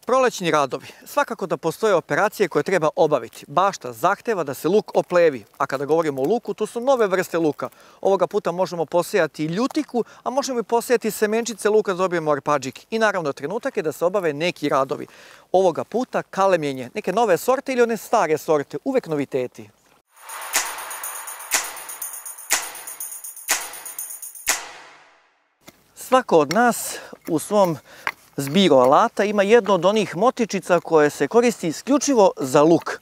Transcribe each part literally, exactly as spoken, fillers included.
Prolećni radovi. Svakako da postoje operacije koje treba obaviti. Bašta zahteva da se luk oplevi, a kada govorimo o luku, tu su nove vrste luka. Ovoga puta možemo posejati ljutiku, a možemo i posejati semenčice luka da dobijemo arpadžik. I naravno trenutak je da se obave neki radovi. Ovoga puta kalemljenje, neke nove sorte ili one stare sorte, uvek noviteti. Svako od nas u svom zbiru alata ima jedno od onih motičica koje se koristi isključivo za luk.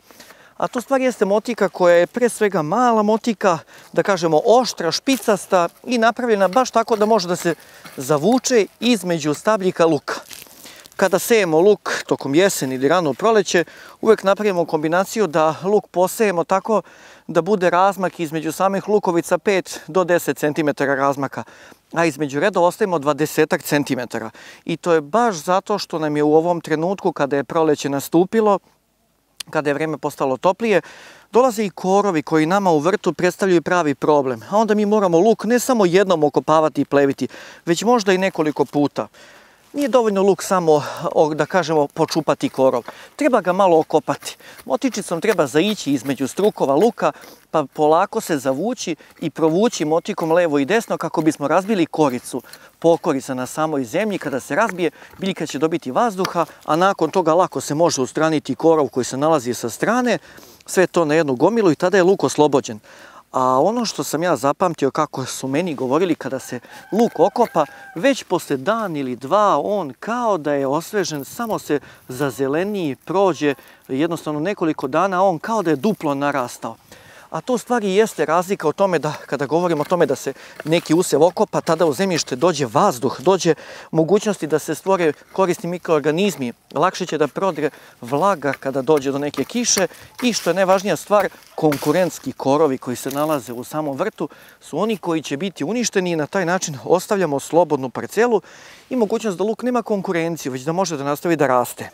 A to stvar jeste motika koja je pre svega mala motika, da kažemo oštra, špicasta i napravljena baš tako da može da se zavuče između stabljika luka. Kada sejemo luk tokom jeseni ili rano proleće, uvek napravimo kombinaciju da luk posejemo tako da bude razmak između samih lukovica pet do deset centimetara razmaka, a između redova ostavimo dvadesetak centimetara. I to je baš zato što nam je u ovom trenutku, kada je proleće nastupilo, kada je vreme postalo toplije, dolaze i korovi koji nama u vrtu predstavljaju pravi problem. A onda mi moramo luk ne samo jednom okopavati i pleviti, već možda i nekoliko puta. Nije dovoljno luk samo, da kažemo, počupati korov. Treba ga malo okopati. Motičicom treba zaići između strukova luka, pa polako se zavući i provući motikom levo i desno kako bismo razbili koricu. Pokorica na samoj zemlji, kada se razbije, biljka će dobiti vazduha, a nakon toga lako se može ustraniti korov koji se nalazi sa strane, sve to na jednu gomilu i tada je luk oslobođen. A ono što sam ja zapamtio kako su meni govorili kada se luk okopa, već posle dan ili dva on kao da je osvežen, samo se zazeleniji, prođe jednostavno nekoliko dana, on kao da je duplo narastao. A to u stvari jeste razlika o tome da, kada govorimo o tome da se neki usev okopa, tada u zemljište dođe vazduh, dođe mogućnosti da se stvore korisni mikroorganizmi, lakše će da prodre vlaga kada dođe do neke kiše i što je najvažnija stvar, konkurentski korovi koji se nalaze u samom vrtu su oni koji će biti uništeni i na taj način ostavljamo slobodnu parcelu i mogućnost da luk nema konkurenciju, već da može da nastavi da raste.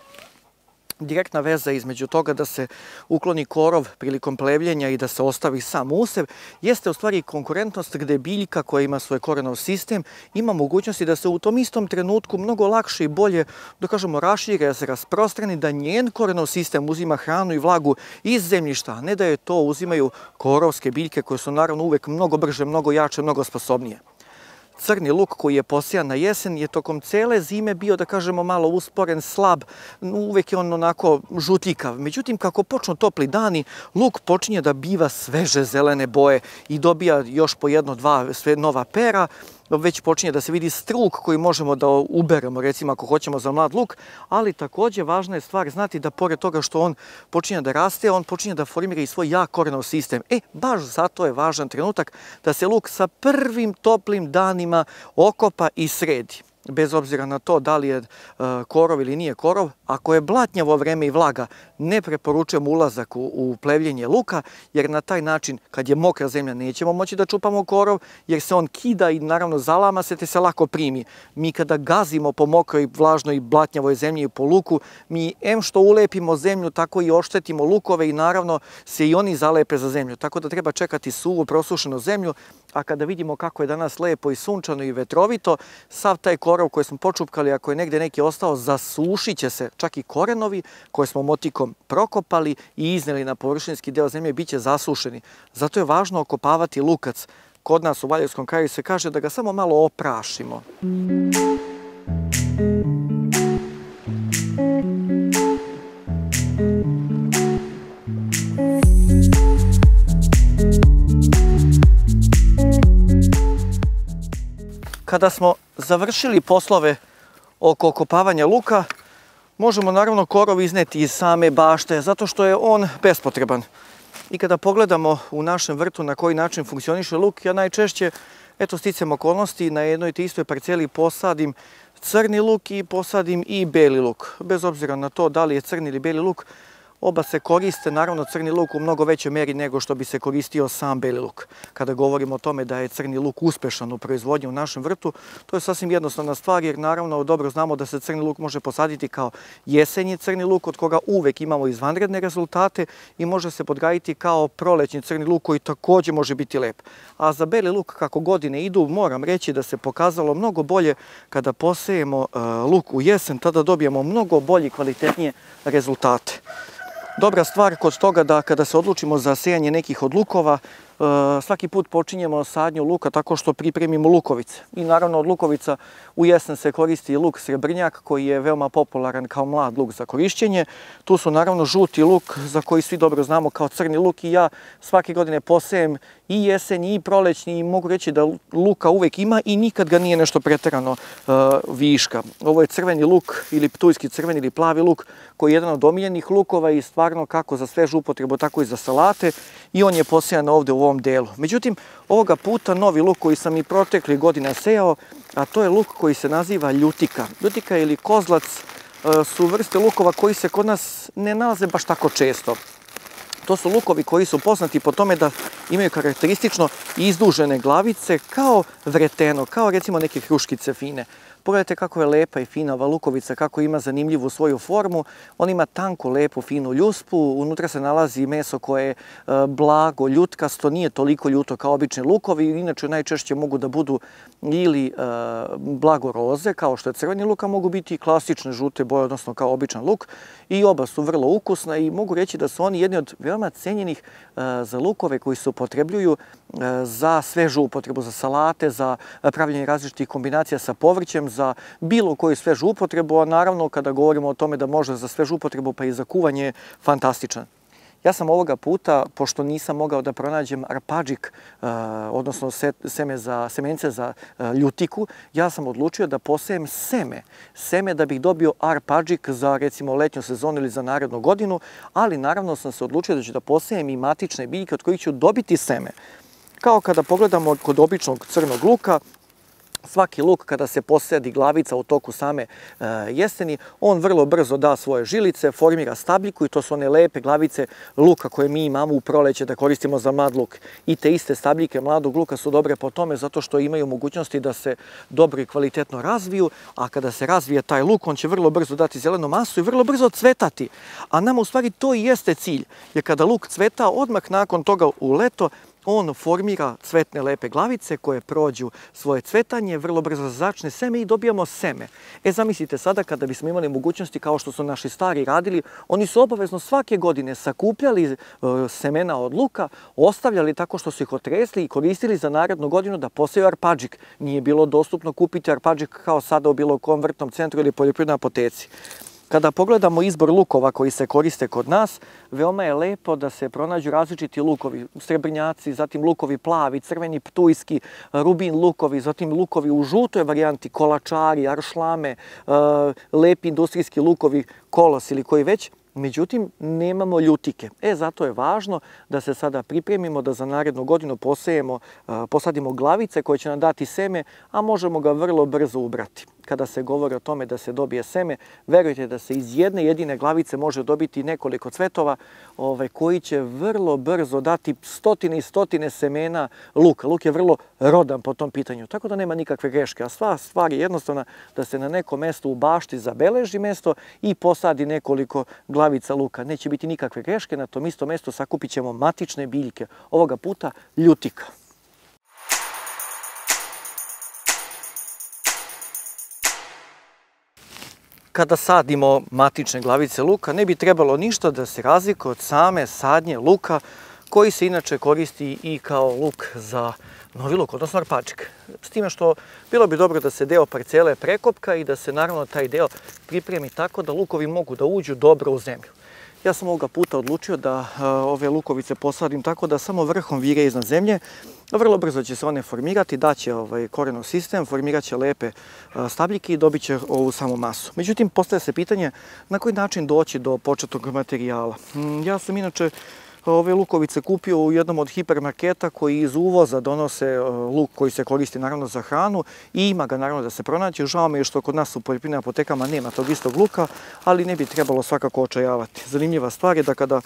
Direktna veza između toga da se ukloni korov prilikom plevljenja i da se ostavi sam usev jeste u stvari konkurentnost gde biljka koja ima svoj korenov sistem ima mogućnosti da se u tom istom trenutku mnogo lakše i bolje, da kažemo, raširi, da se rasprostrani, da njen korenov sistem uzima hranu i vlagu iz zemljišta, a ne da je to uzimaju korovske biljke koje su naravno uvek mnogo brže, mnogo jače, mnogo sposobnije. Crni luk koji je posijan na jesen je tokom cele zime bio, da kažemo, malo usporen, slab, uvek je on onako žutljikav. Međutim, kako počnu topli dani, luk počinje da biva sveže zelene boje i dobija još po jedno, dva sve nova pera, već počinje da se vidi struk koji možemo da uberemo, recimo ako hoćemo za mlad luk, ali takođe važna je stvar znati da pored toga što on počinje da raste, on počinje da formira i svoj jak korenov sistem. E, baš zato je važan trenutak da se luk sa prvim toplim danima okopa i sredi. Bez obzira na to da li je korov ili nije korov, ako je blatnjavo vreme i vlaga, ne preporučujem ulazak u plevljenje luka, jer na taj način, kad je mokra zemlja, nećemo moći da čupamo korov, jer se on kida i naravno zalama se te se lako primi. Mi kada gazimo po mokroj, vlažnoj i blatnjavoj zemlji i po luku, mi em što ulepimo zemlju, tako i oštetimo lukove i naravno se i oni zalepe za zemlju. Tako da treba čekati suvu, prosušenu zemlju, a kada vidimo kako je danas lepo i sunčano i vetrovito, sav taj korov koji smo počupkali, ako je negde neki ostao, zasušit će se, čak i korenovi koje smo motikom prokopali i izneli na površinski deo zemlje, bit će zasušeni. Zato je važno okopavati lukac. Kod nas u Valjevskom kraju se kaže da ga samo malo oprašimo. Kada smo završili poslove oko okopavanja luka, možemo naravno korov izneti iz same bašte, zato što je on bespotreban. I kada pogledamo u našem vrtu na koji način funkcioniše luk, ja najčešće, eto, sticam okolnosti, na jednoj te istoj parceli posadim crni luk i posadim i beli luk. Bez obzira na to da li je crni ili beli luk, Oba se koriste, naravno crni luk u mnogo većoj meri nego što bi se koristio sam beli luk. Kada govorimo o tome da je crni luk uspešan u proizvodnji u našem vrtu, to je sasvim jednostavna stvar jer naravno dobro znamo da se crni luk može posaditi kao jesenji crni luk od koga uvek imamo izvanredne rezultate i može se podgajiti kao prolećni crni luk koji takođe može biti lep. A za beli luk kako godine idu moram reći da se pokazalo mnogo bolje kada posejemo luk u jesen, tada dobijemo mnogo bolje i kvalitetnije rezultate. Dobra stvar kod toga da kada se odlučimo za sejanje nekih od lukova, svaki put počinjemo sadnju luka tako što pripremimo lukovice. I naravno od lukovica u jesen se koristi luk srebrnjak koji je veoma popularan kao mlad luk za korišćenje. Tu su naravno žuti luk za koji svi dobro znamo kao crni luk i ja svake godine posejem i jesenji i prolećni i mogu reći da luka uvek ima i nikad ga nije nešto preterano uh, viška. Ovo je crveni luk ili ptujski crveni ili plavi luk koji je jedan od omiljenih lukova i stvarno kako za svežu upotrebu tako i za salate i on je posejan ovde u ovom delu. Međutim, ovoga puta novi luk koji sam i protekli godina sejao, a to je luk koji se naziva ljutika. Ljutika ili kozlac uh, su vrste lukova koji se kod nas ne nalaze baš tako često. To su lukovi koji su poznati po tome da imaju karakteristično izdužene glavice kao vreteno, kao recimo neke kruškice fine. Pogledajte kako je lepa i fina ova lukovica, kako ima zanimljivu svoju formu. On ima tanku, lepu, finu ljuspu, unutra se nalazi meso koje je blago, ljutkasto, nije toliko ljuto kao obični lukovi, inače najčešće mogu da budu ili blago roze, kao što je crveni luk, a mogu biti i klasične žute boje, odnosno kao običan luk. I oba su vrlo ukusna i mogu reći da su oni jedni od veoma cenjenih za lukove koji se upotrebljuju za svežu upotrebu, za salate, za pravljenje različitih kombinacija sa povrćem, za bilo koju svežu upotrebu, a naravno kada govorimo o tome da može za svežu upotrebu pa i za kuvanje, fantastičan. Ja sam ovoga puta, pošto nisam mogao da pronađem arpadžik, odnosno seme za, semence za ljutiku, ja sam odlučio da posejem seme. Seme da bih dobio arpadžik za recimo letnju sezonu ili za narednu godinu, ali naravno sam se odlučio da ću da posejem i matične biljke od kojih ću dobiti seme. Kao kada pogledamo kod običnog crnog luka, svaki luk kada se posadi glavica u toku same e, jeseni, on vrlo brzo da svoje žilice, formira stabljiku i to su one lepe glavice luka koje mi imamo u proleće da koristimo za mlad luk. I te iste stabljike mladog luka su dobre po tome zato što imaju mogućnosti da se dobro i kvalitetno razviju, a kada se razvije taj luk, on će vrlo brzo dati zelenu masu i vrlo brzo cvetati. A nama u stvari to i jeste cilj, jer kada luk cveta, odmah nakon toga u leto, on formira cvetne lepe glavice koje prođu svoje cvetanje, vrlo brzo začne seme i dobijamo seme. E, zamislite sada kada bismo imali mogućnosti kao što su naši stari radili, oni su obavezno svake godine sakupljali semena od luka, ostavljali tako što su ih otresli i koristili za narednu godinu da poseju arpadžik. Nije bilo dostupno kupiti arpadžik kao sada u bilo kom vrtnom centru ili poljoprivrednoj apoteci. Kada pogledamo izbor lukova koji se koriste kod nas, veoma je lepo da se pronađu različiti lukovi, srebrnjaci, zatim lukovi plavi, crveni, ptujski, rubin lukovi, zatim lukovi u žutoj varijanti, kolačari, aršlame, lepi industrijski lukovi, kolos ili koji već. Međutim, nemamo ljutike. E, zato je važno da se sada pripremimo da za narednu godinu posejemo, posadimo glavice koje će nam dati seme, a možemo ga vrlo brzo ubrati. Kada se govori o tome da se dobije seme, verujte da se iz jedne jedine glavice može dobiti nekoliko cvetova ovaj, koji će vrlo brzo dati stotine i stotine semena luka. Luk je vrlo rodan po tom pitanju, tako da nema nikakve greške. A sva stvar je jednostavna da se na nekom mestu u bašti zabeleži mesto i posadi nekoliko glavica luka. Neće biti nikakve greške, na tom istom mestu sakupit ćemo matične biljke, ovoga puta ljutika. Kada sadimo matične glavice luka, ne bi trebalo ništa da se razlikuje od same sadnje luka koji se inače koristi i kao luk za novi luk, odnosno arpadžik. S time što bilo bi dobro da se deo parcele prekopka i da se naravno taj deo pripremi tako da lukovi mogu da uđu dobro u zemlju. Ja sam ovoga puta odlučio da ove lukovice posadim tako da samo vrhom vire iznad zemlje. Vrlo brzo će se one formirati, daće ovaj korenov sistem, formirat će lepe stabljike i dobit će ovu samu masu. Međutim, postaje se pitanje na koji način doći do početnog materijala. Ja sam inače ove lukovice kupio u jednom od hipermarketa koji iz uvoza donose luk koji se koristi naravno za hranu i ima ga naravno da se pronaći. Žao mi je što kod nas u poljoprivrednim apotekama nema tog istog luka, ali ne bi trebalo svakako očajavati. Zanimljiva stvar je da kada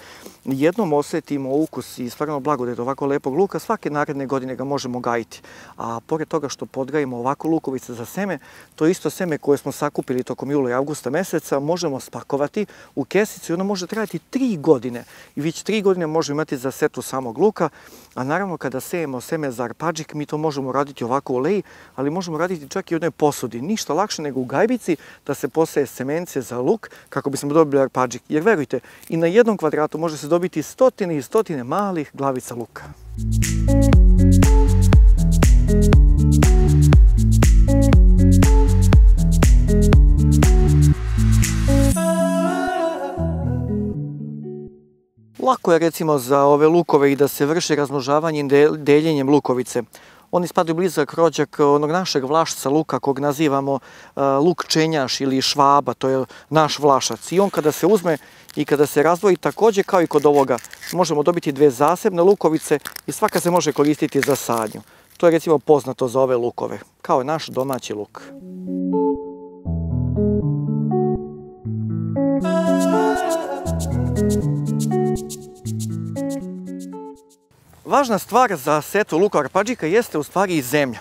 jednom osjetimo ukus i stvarno blagodet ovako lepog luka, svake naredne godine ga možemo gajiti. A pored toga što podgajimo ovako lukovice za seme, to isto seme koje smo sakupili tokom jula i avgusta meseca možemo spakovati u kesicu i ono može trajati tri godine. I već tri godine možemo imati za setvu samog luka, a naravno kada sejemo seme za arpadžik, mi to možemo raditi ovako u leji, ali možemo raditi čak i u jednoj posudi. Ništa lakše nego u gajbici da se poseje semence za luk kako bismo dobili arpadžik. Jer verujte, i na jednom kvadratu može se dobiti stotine i stotine malih glavica luka. Lako je recimo za ove lukove i da se vrši razmnožavanje deljenjem lukovice. Oni spadaju blizak rođak onog našeg vlašca luka kog nazivamo luk čenjaš ili švaba, to je naš vlašac. I on kada se uzme i kada se razdvoji, također kao i kod ovoga, možemo dobiti dve zasebne lukovice i svaka se može koristiti za sadnju. To je recimo poznato za ove lukove, kao naš domaći luk. Važna stvar za setvu luka arpadžika jeste u stvari i zemlja.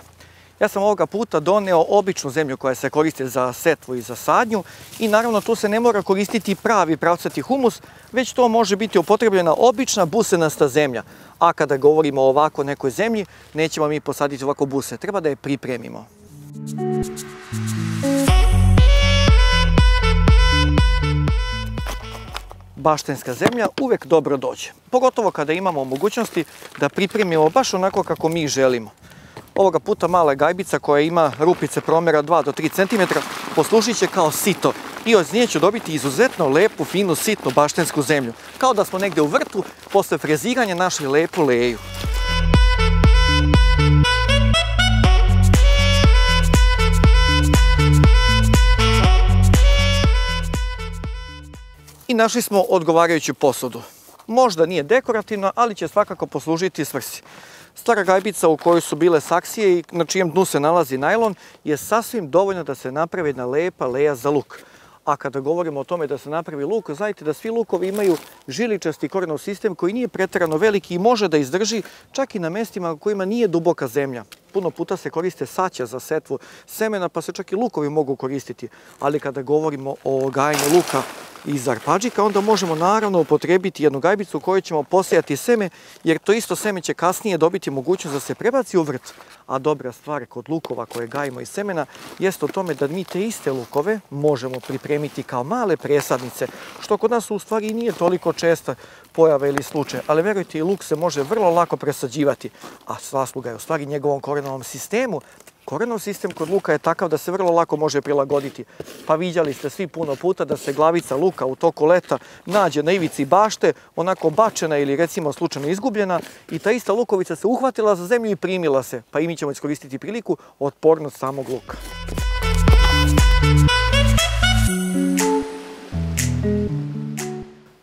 Ja sam ovoga puta doneo običnu zemlju koja se koristi za setvu i za sadnju i naravno tu se ne mora koristiti pravi pravcati humus, već to može biti upotrebljena obična busenasta zemlja. A kada govorimo o ovako nekoj zemlji, nećemo mi posaditi ovako buse, treba da je pripremimo. Baštenska zemlja uvek dobro dođe. Pogotovo kada imamo mogućnosti da pripremimo baš onako kako mi želimo. Ovoga puta mala gajbica koja ima rupice promjera dva do tri centimetra poslužit će kao sito i od nje ću dobiti izuzetno lepu, finu, sitnu baštensku zemlju. Kao da smo negde u vrtu posle freziranja našli lepu leju. I našli smo odgovarajuću posudu. Možda nije dekorativna, ali će svakako poslužiti svrsi. Stara gajbica u kojoj su bile saksije i na čijem dnu se nalazi najlon je sasvim dovoljno da se napravi jedna lepa leja za luk. A kada govorimo o tome da se napravi luk, znajte da svi lukovi imaju žiličasti korenov sistem koji nije preterano veliki i može da izdrži čak i na mestima kojima nije duboka zemlja. Puno puta se koriste saća za setvu semena, pa se čak i lukovi mogu koristiti. Ali kada govorimo o gajanju luka iz arpadžika, onda možemo naravno upotrebiti jednu gajbicu u kojoj ćemo posejati seme, jer to isto seme će kasnije dobiti mogućnost da se prebaci u vrt. A dobra stvar kod lukova koje gajimo iz semena jeste u tome da mi te iste lukove možemo pripremiti kao male presadnice, što kod nas u stvari nije toliko česta pojava ili slučaj, ali verujte, i luk se može vrlo lako presađivati, a zasluga je u stvari njegovom korenovom sistemu. Korenov sistem kod luka je takav da se vrlo lako može prilagoditi. Pa viđali ste svi puno puta da se glavica luka u toku leta nađe na ivici bašte, onako bačena ili recimo slučajno izgubljena i ta ista lukovica se uhvatila za zemlju i primila se. Pa i mi ćemo iskoristiti priliku otpornost samog luka.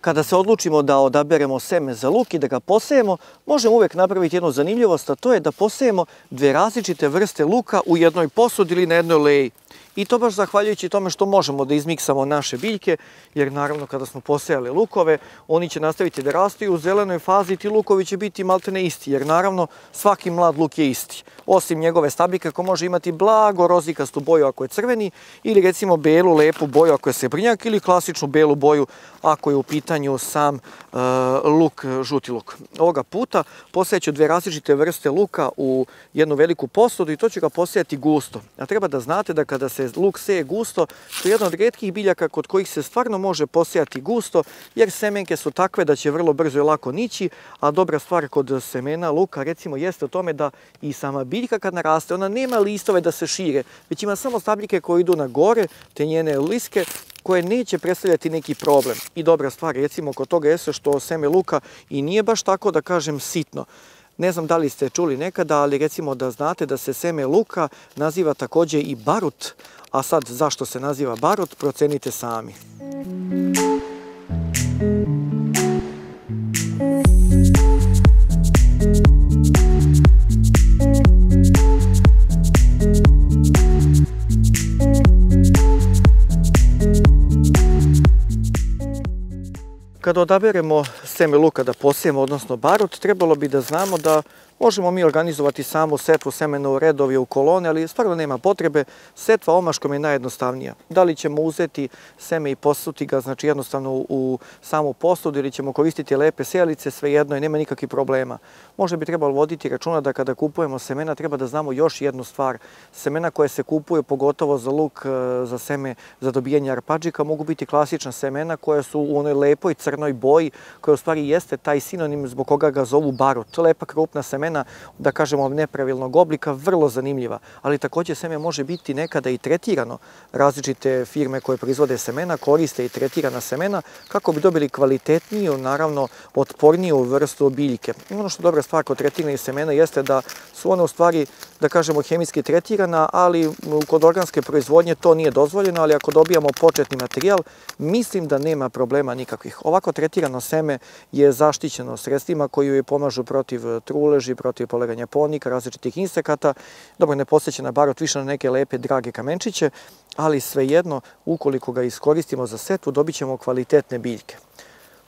Kada se odlučimo da odaberemo seme za luk i da ga posejemo, možemo uvek napraviti jednu zanimljivost, a to je da posejemo dve različite vrste luka u jednoj posudi ili na jednoj leji. I to baš zahvaljujući tome što možemo da izmiksamo naše biljke, jer naravno kada smo posejali lukove, oni će nastaviti da rastu i u zelenoj fazi ti lukovi će biti maltene isti, jer naravno svaki mlad luk je isti. Osim njegove stabljike ko može imati blago rozikastu boju ako je crveni, ili recimo belu lepu boju ako je srebrnjak, ili klasičnu belu boju ako je u pitanju sam uh, luk, žuti luk. Ovoga puta posejaću dve različite vrste luka u jednu veliku posudu i to ću ga posejati gusto. A treba da znate da kada se luk seje gusto, to je jedna od retkih biljaka kod kojih se stvarno može posejati gusto, jer semenke su takve da će vrlo brzo i lako nići, a dobra stvar kod semena luka recimo jeste u tome da i sama biljka kad naraste, ona nema listove da se šire, već ima samo stabljike koje idu na gore, te njene liske, koje neće predstavljati neki problem. I dobra stvar recimo kod toga jeste što seme luka i nije baš tako da kažem sitno. Ne znam da li ste čuli nekada, ali recimo da znate da se seme luka naziva također i barut, a sad zašto se naziva barut, procenite sami. Kada odaberemo seme luka da posijemo, odnosno barut, trebalo bi da znamo da možemo mi organizovati samu setvu semena u redovi, u kolone, ali stvarno nema potrebe. Setva omaškom je najjednostavnija. Da li ćemo uzeti seme i posuti ga, znači jednostavno u samu posudu, ili ćemo koristiti lepe sijalice, svejedno i nema nikakvih problema. Možda bi trebalo voditi računa da kada kupujemo semena treba da znamo još jednu stvar. Semena koje se kupuju, pogotovo za luk, za seme, za dobijanje arpadžika, mogu biti klasična semena koja su u onoj lepoj crnoj boji, koja u stvari jeste taj sinonim zbog koga ga zovu barut. Lepa krupna semena, da kažemo nepravilnog oblika, vrlo zanimljiva, ali također seme može biti nekada i tretirano. Različite firme koje proizvode semena koriste i tretirana semena kako bi dobili kvalitetniju, naravno otporniju vrstu biljke. Ono što je dobra stvar kod tretiranih semena jeste da su one u stvari, da kažemo, hemijski tretirana, ali kod organske proizvodnje to nije dozvoljeno, ali ako dobijamo početni materijal, mislim da nema problema nikakvih. Ovako tretirano seme je zaštićeno sredstvima koji joj pomažu protiv truleži, protiv poleganja ponika, različitih insekata. Dobro, ne podsjeća na barut, više na neke lepe, drage kamenčiće, ali svejedno, ukoliko ga iskoristimo za setvu, dobit ćemo kvalitetne biljke.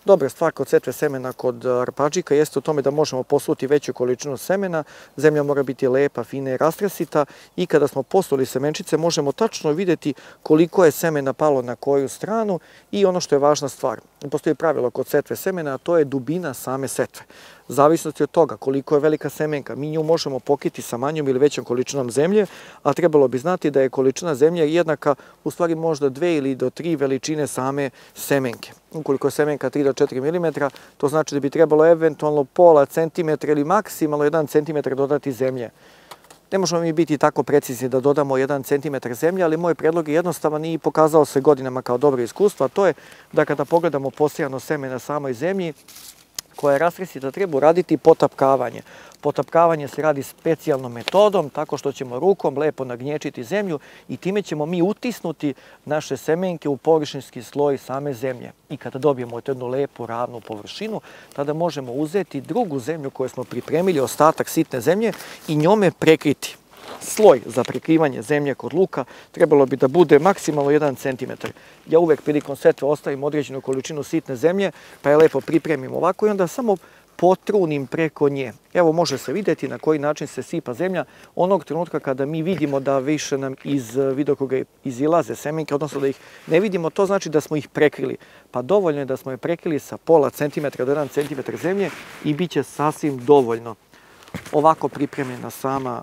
Dobra stvar kod setve semena kod arpadžika jeste u tome da možemo posuti veću količinu semena, zemlja mora biti lepa, fina i rastresita i kada smo posuli semenčice možemo tačno vidjeti koliko je semena palo na koju stranu i ono što je važna stvar. Postoji pravilo kod setve semena, a to je dubina same setve. Zavisnosti od toga koliko je velika semenka, mi nju možemo pokriti sa manjom ili većom količinom zemlje, a trebalo bi znati da je količina zemlje jednaka u stvari možda dve ili do tri veličine same semenke. Ukoliko je semenka tri do četiri milimetra, to znači da bi trebalo eventualno pola centimetra ili maksimalno jedan centimetar dodati zemlje. Ne možemo mi biti tako precizni da dodamo jedan centimetar zemlje, ali moj predlog je jednostavan i pokazao se godinama kao dobro iskustvo, a to je da kada pogledamo posijano seme na samoj zemlji, koja je rastresita, treba uraditi potapkavanje. Potapkavanje se radi specijalnom metodom, tako što ćemo rukom lepo nagnječiti zemlju i time ćemo mi utisnuti naše semenke u površinski sloj same zemlje. I kada dobijemo jednu lepu, ravnu površinu, tada možemo uzeti drugu zemlju koju smo pripremili, ostatak sitne zemlje, i njome prekriti. Sloj za prekrivanje zemlje kod luka trebalo bi da bude maksimalno jedan centimetar. Ja uvek prilikom setve ostavim određenu količinu sitne zemlje, pa je lepo pripremim ovako i onda samo potrunim preko nje. Evo, može se vidjeti na koji način se sipa zemlja onog trenutka kada mi vidimo da više nam iz vidokruga izilaze semenke, odnosno da ih ne vidimo, to znači da smo ih prekrili. Pa dovoljno je da smo je prekrili sa pola centimetra do jedan centimetar zemlje i bit će sasvim dovoljno. Ovako pripremljena sama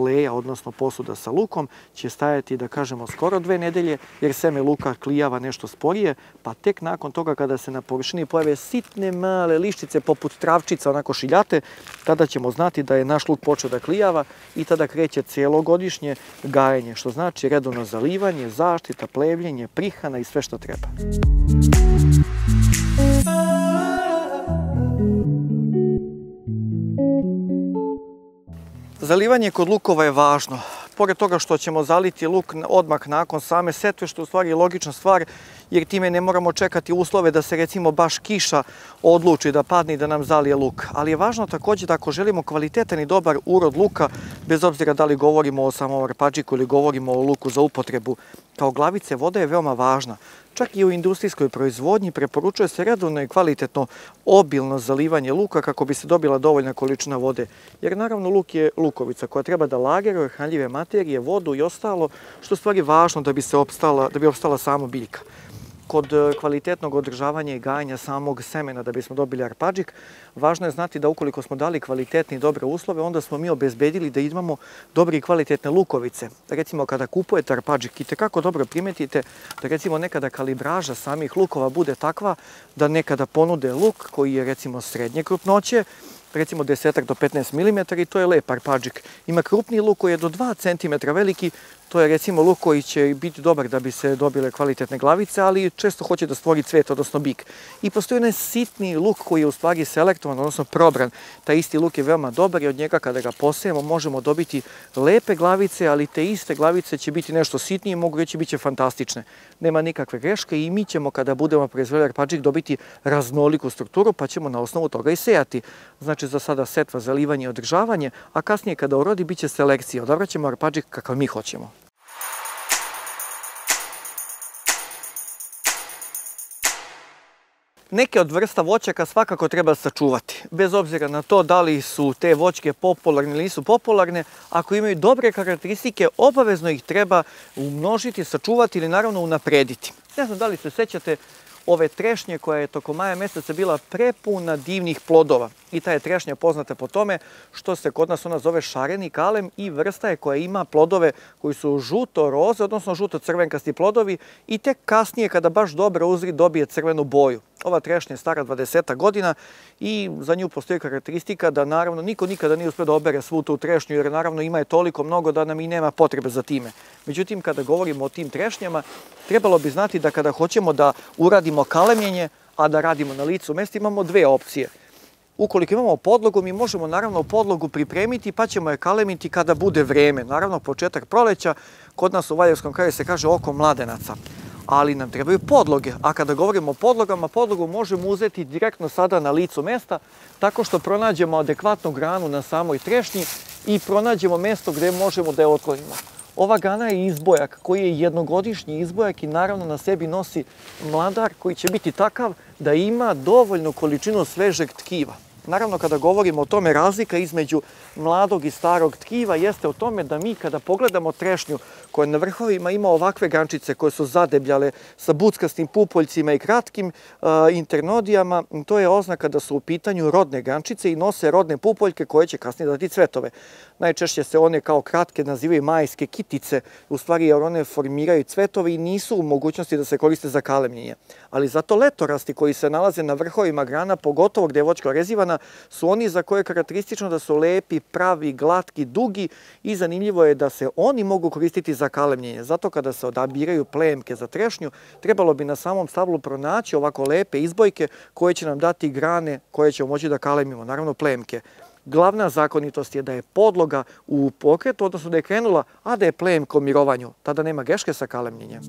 leja, odnosno posuda sa lukom, će stajati, da kažemo, skoro dve nedelje, jer seme luka klijava nešto sporije, pa tek nakon toga kada se na površini pojave sitne male liščice poput travčica, onako šiljate, tada ćemo znati da je naš luk počeo da klijava i tada kreće celogodišnje gajenje, što znači redovno zalivanje, zaštita, plevljenje, prihrana i sve što treba. Zalivanje kod lukova je važno. Pored toga što ćemo zaliti luk odmah nakon same setve, što je u stvari logična stvar, jer time ne moramo čekati uslove da se recimo baš kiša odluči da padne i da nam zalije luk. Ali je važno također da ako želimo kvalitetan i dobar urod luka, bez obzira da li govorimo o samom arpadžiku ili govorimo o luku za upotrebu kao glavice, voda je veoma važna. Čak i u industrijskoj proizvodnji preporučuje se redovno i kvalitetno obilno zalivanje luka kako bi se dobila dovoljna količina vode. Jer naravno luk je lukovica koja treba da lageruje hranljive materije, vodu i ostalo, što je u stvari važno da bi se opstala, da bi opstala sama biljka. Kod kvalitetnog održavanja i gajanja samog semena da bismo dobili arpadžik, važno je znati da ukoliko smo dali kvalitetne i dobre uslove, onda smo mi obezbedili da imamo dobre i kvalitetne lukovice. Recimo, kada kupujete arpadžik, itekako dobro primetite da recimo nekada kalibraža samih lukova bude takva da nekada ponude luk koji je recimo srednje krupnoće, recimo deset do petnaest milimetara, i to je lep arpadžik. Ima krupniji luk koji je do dva centimetra veliki, To je recimo luk koji će biti dobar da bi se dobile kvalitetne glavice, ali često hoće da stvori cvet, odnosno bik. I postoji onaj sitni luk koji je u stvari selektovan, odnosno probran. Taj isti luk je veoma dobar i od njega kada ga posejemo možemo dobiti lepe glavice, ali te iste glavice će biti nešto sitnije i mogu reći bit će fantastične. Nema nikakve greške i mi ćemo kada budemo proizvodili arpadžik dobiti raznoliku strukturu pa ćemo na osnovu toga i sejati. Znači za sada setva, zalivanje i održavanje, a kasnije kada urodi bit će selekcija. Odabrat ćemo arpadžik kakav mi hoćemo. Neke od vrsta voćaka svakako treba sačuvati, bez obzira na to da li su te voćke popularne ili nisu popularne. Ako imaju dobre karakteristike, obavezno ih treba umnožiti, sačuvati ili naravno unaprediti. Ne znam da li se sećate ove trešnje koja je tokom maja meseca bila prepuna divnih plodova. I ta je trešnja poznata po tome što se kod nas ona zove šareni kalem i vrsta je koja ima plodove koji su žuto-roze, odnosno žuto-crvenkasti plodovi i tek kasnije kada baš dobro uzri dobije crvenu boju. Ova trešnja je stara dvadesetak godina i za nju postoji karakteristika da naravno niko nikada nije uspio da obere svu tu trešnju jer naravno ima je toliko mnogo da nam i nema potrebe za time. Međutim, kada govorimo o tim trešnjama, trebalo bi znati da kada hoćemo da uradimo kalemljenje, a da radimo na licu mesta, imamo dve opcije. Ukoliko imamo podlogu, mi možemo naravno podlogu pripremiti pa ćemo je kalemiti kada bude vreme. Naravno, početak proleća, kod nas u Valjerskom kraju se kaže oko mladenaca. Ali nam trebaju podloge, a kada govorimo o podlogama, podlogu možemo uzeti direktno sada na licu mesta tako što pronađemo adekvatnu granu na samoj trešnji i pronađemo mesto gde možemo da je otklonimo. Ova grana je izbojak koji je jednogodišnji izbojak i naravno na sebi nosi mladar koji će biti takav da ima dovoljnu količinu svežeg tkiva. Naravno, kada govorimo o tome, razlika između mladog i starog tkiva jeste o tome da mi kada pogledamo trešnju koja na vrhovima ima ovakve grančice koje su zadebljale sa buckastim pupoljcima i kratkim uh, internodijama, to je oznaka da su u pitanju rodne grančice i nose rodne pupoljke koje će kasnije dati cvetove. Najčešće se one kao kratke nazivaju majske kitice, u stvari jer one formiraju cvetove i nisu u mogućnosti da se koriste za kalemljenje. Ali zato letorasti koji se nalaze na vrhovima grana, pogotovo gde je voćka orezivana, su oni za koje je karakteristično da su lepi, pravi, glatki, dugi i zanimljivo je da se oni mogu koristiti za kalemljenje. Zato kada se odabiraju plemke za trešnju, trebalo bi na samom stablu pronaći ovako lepe izbojke koje će nam dati grane koje ćemo moći da kalemimo, naravno plemke. Glavna zakonitost je da je podloga u pokretu, odnosno da je krenula, a da je plemka u mirovanju. Tada nema greške sa kalemljenjem.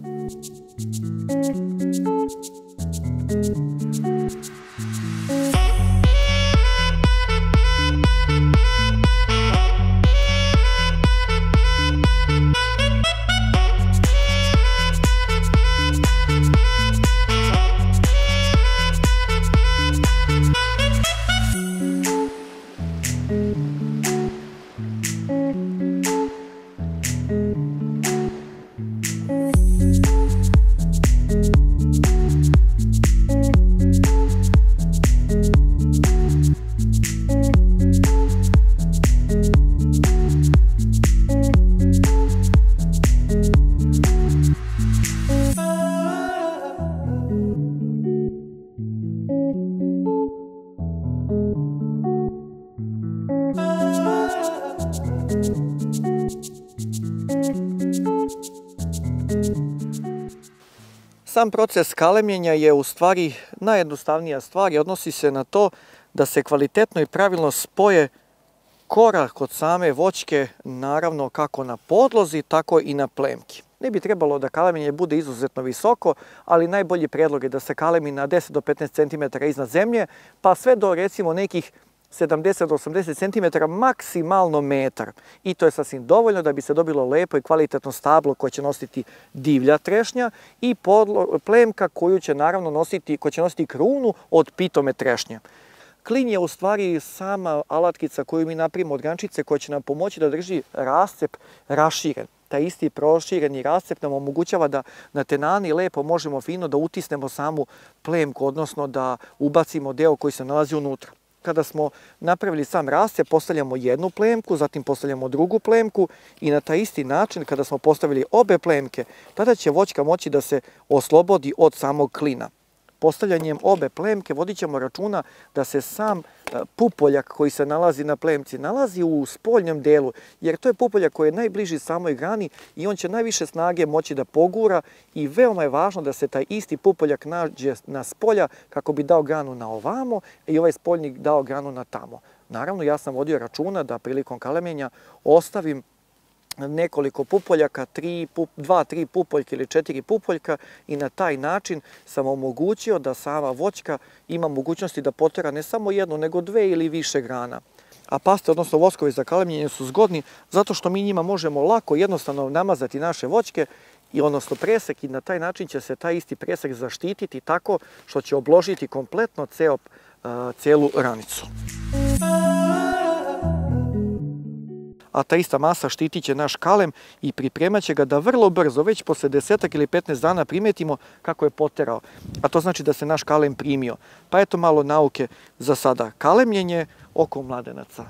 Sam proces kalemljenja je u stvari najjednostavnija stvar i odnosi se na to da se kvalitetno i pravilno spoje kora kod same voćke, naravno kako na podlozi, tako i na plemki. Ne bi trebalo da kalemljenje bude izuzetno visoko, ali najbolji predlog je da se kalemi na deset do petnaest centimetara iznad zemlje, pa sve do recimo nekih sedamdeset do osamdeset centimetara, maksimalno metar. I to je sasvim dovoljno da bi se dobilo lepo i kvalitetno stablo koje će nositi divlja trešnja i podlo, plemka koju će naravno nositi, koja će nositi krunu od pitome trešnje. Klin je u stvari sama alatkica koju mi napravimo od grančice koja će nam pomoći da drži rascep raširen. Taj isti prošireni rascep nam omogućava da na tenani lepo možemo fino da utisnemo samu plemku, odnosno da ubacimo deo koji se nalazi unutra. Kada smo napravili sam rascep, postavljamo jednu plemku, zatim postavljamo drugu plemku i na taj isti način, kada smo postavili obe plemke, tada će voćka moći da se oslobodi od samog klina. postavljanjem obe plemke vodit ćemo računa da se sam pupoljak koji se nalazi na plemci nalazi u spoljnom delu, jer to je pupoljak koji je najbliži samoj grani i on će najviše snage moći da pogura i veoma je važno da se taj isti pupoljak nađe na spolja kako bi dao granu na ovamo i ovaj spoljnik dao granu na tamo. Naravno, ja sam vodio računa da prilikom kalemljenja ostavim nekoliko pupoljaka, dva, tri pupoljka ili četiri pupoljka i na taj način sam omogućio da sama voćka ima mogućnosti da potera ne samo jednu, nego dve ili više grana. A paste, odnosno voskovi za kalemljenje su zgodni zato što mi njima možemo lako, jednostavno namazati naše voćke i odnosno presek i na taj način će se taj isti presek zaštititi tako što će obložiti kompletno ceo, celu ranicu. A ta ista masa štitit će naš kalem i pripremat će ga da vrlo brzo, već posle desetak ili petnaest dana primetimo kako je poterao. A to znači da se naš kalem primio. Pa eto malo nauke za sada. Kalemljenje oko mladenaca.